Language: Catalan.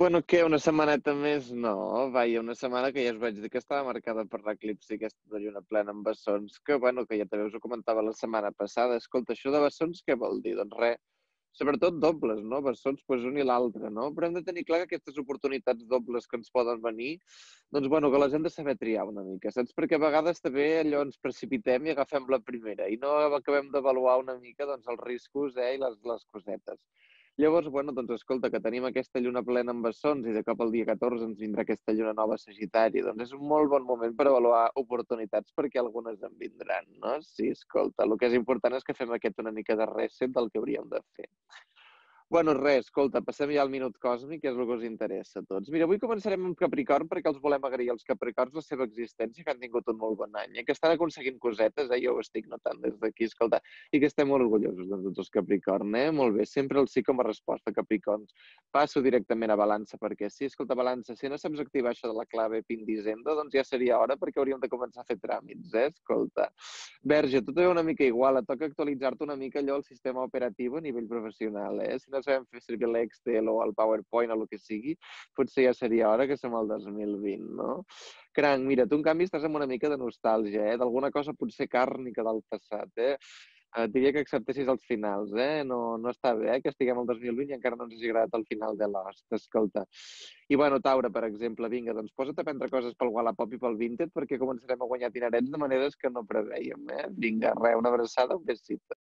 Bueno, què, una setmaneta més? No, vaja, una setmana que ja us vaig dir que estava marcada per l'eclipsi aquesta de lluna plena amb bessons, que bueno, que ja també us ho comentava la setmana passada. Escolta, això de bessons què vol dir? Doncs res, sobretot dobles, no? Bessons, doncs un i l'altre, no? Però hem de tenir clar que aquestes oportunitats dobles que ens poden venir, doncs bueno, que les hem de saber triar una mica, saps? Perquè a vegades també allò ens precipitem i agafem la primera i no acabem d'avaluar una mica doncs, els riscos i les cosetes. Llavors, bueno, doncs escolta, que tenim aquesta lluna plena amb bessons i de cop al dia 14 ens vindrà aquesta lluna nova a Sagitari, doncs és un molt bon moment per avaluar oportunitats perquè algunes en vindran, no? Sí, escolta, el que és important és que fem aquest una mica de reset del que hauríem de fer. Bueno, res, escolta, passem ja al minut còsmic, que és el que us interessa a tots. Mira, avui començarem amb Capricorn perquè els volem agrair als Capricorns la seva existència, que han tingut un molt bon any, i que estan aconseguint cosetes, jo ho estic notant des d'aquí, escolta, i que estem molt orgullosos de tots els Capricorn, Molt bé, sempre el sí com a resposta, Capricorns. Passo directament a Balança, perquè sí, escolta, Balança, si no saps activar això de la clave PIN d'Hisenda, doncs ja seria hora perquè hauríem de començar a fer tràmits, Escolta. Verge, tot és una mica igual, et toca actualitzar-te una mica allò el sistema operatiu a nivell professional, Si no sabem fer servir l'Excel o el PowerPoint o el que sigui, potser ja seria hora que som al 2020, no? Cranc, mira, tu en canvi estàs amb una mica de nostàlgia, D'alguna cosa potser càrnica del passat, Et diria que acceptessis els finals, No està bé, que estiguem al 2020 i encara no ens hagi agradat el final de Lost, escolta. I bueno, Taure, per exemple, vinga, doncs posa't a prendre coses pel Wallapop i pel Vinted perquè començarem a guanyar dinerets de maneres que no preveiem, Vinga, res, una abraçada, un besito.